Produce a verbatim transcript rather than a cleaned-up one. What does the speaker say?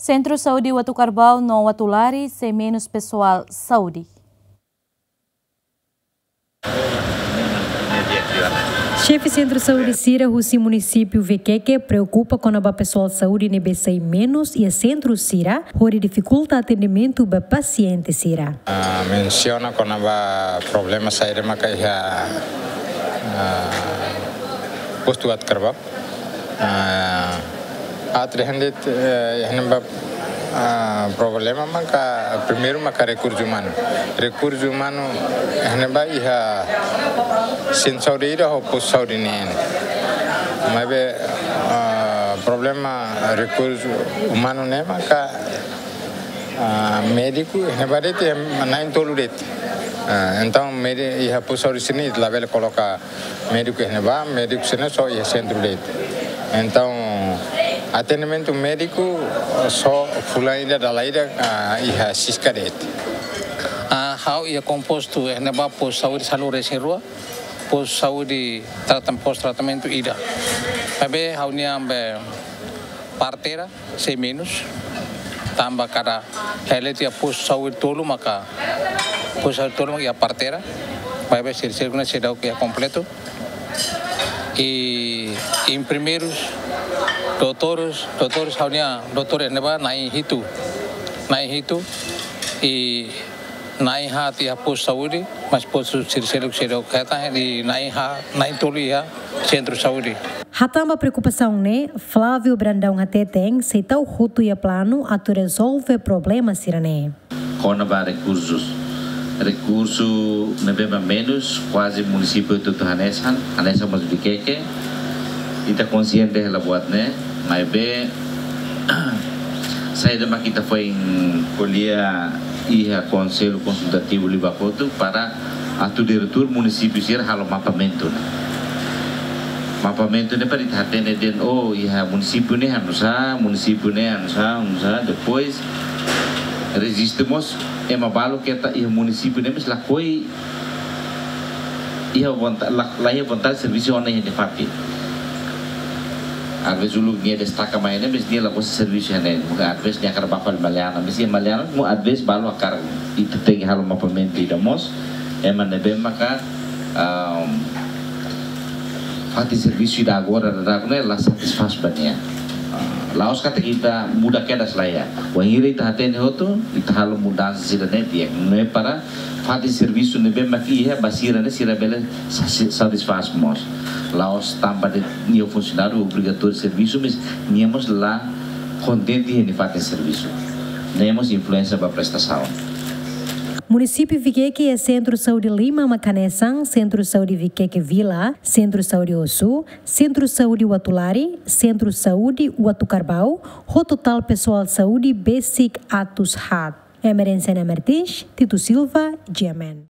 Sentru Saúde Uatucarbau no Uatulari sei menus pesoál saúde. Xefe Sentru Saúde sira husi munisípiu Viqueque preokupa kona-ba pesoál saúde ne'ebé sai menus iha sentru sira, hodi difikulta atendimentu ba pasiente sira. Ah, mensiona kona-ba problema saida maka iha, ah, postu Uatucarbau. Ah, atu dehan de'it, eh, iha ne'ebá, ah, problema maka primeiru maka rekursu umanu. Rekursu umanu iha ne'ebá iha sentru saúde ida ho postu saúde neen. Maibé, ah, problema rekursu umanu ne'e maka, ah, médiku iha ne'ebá de'it, eh, na'in-tolu de'it. Ah, entaun médi-, iha postu saúde sira-ne'e labele koloka médiku iha ne'ebá, médiku sira-ne'e só iha sentru de'it. Entaun, atendimentu médiku só fulan ida dala ida, ah, iha Sisca de'it. Ah, ha'u iha kompostu iha ne'ebá postu saúde sanulu-resin-rua, postu saúde tratam-, postu tratamentu ida. Maibé ha'u-nia be parteira sei menus, tanba kada hela tiha postu saúde tolu maka, postu saúde tolu maka iha parteira, maibé sira-ne'e seidauk iha kompletu. I enfermeirus, doutores, doutores ha'u-nia doutór iha ne'ebá na'in-hitu, na'in-hitu, i na'in-haat iha postu saúde, mas postu sira-ne'e seidauk hetan, i na'in-haat, na'in-tolu iha sentru saúde. Hatán ba preokupasaun ne'e, Flávio Brandão hateten, sei tau hotu iha planu atu rezolve problema sira-ne'e. Kona-ba rekursus. Rekursu ne'ebé mak menus, kuaze munisípiu hotu-hotu hanesan, hanesan mós Viqueque. Ita konsiente hela buat ne'e, maibé saida mak ita foin ko'alia iha Konsellu Konsultativu liubá hotu para atu diretór munisípiu sira halo mapamentu ne'e. Mapamentu ne'e para ita hatene de'it, oh, iha munisípiu ne'e hanusá, munisípiu ne'e hanusá, hanusá. Depois, rejistu mós ema balu ke ita iha munisípiu ne'e mas lakohi iha vonta-, la, la iha vontade servisu ona iha nia fatin. Às vezes uluk nia destaka mai ne'e, mas nia la gosta servisu iha ne'e. Às vezes nia hakarak bá fali Maliana, mas iha Maliana, às vezes balu hakarak, ita tenke halo mapamentu ida mós, ema ne'ebé maka, ah, fatin servisu ida agora daudaun ne'e la satisfás ba nia. Ah, la'ós katak ita muda kedas, lae. Wainhira ita hatene hotu, ita halo mudansa sira-ne'e di'ak. Ne'e para fatin servisu ne'ebé mak iha ba sira-ne'e, sira bele sa-, satisfás mós. La'ós tanba de'it nia funsionáriu obrigatóriu servisu, mas nia mós la kontente iha nia fatin servisu. Ne'e mós influénsia ba prestasaun. Munisípiu Viqueque iha Sentru Saúde lima mak hanesan, Sentru Saúde Viqueque Vila, Sentru Saúde Osu, Sentru Saúde Uatulari, Sentru Saúde Uatucarbau, ho totál pesoál saúde besik atus haat. Emerenciana Martins, Tito Silva, G M N.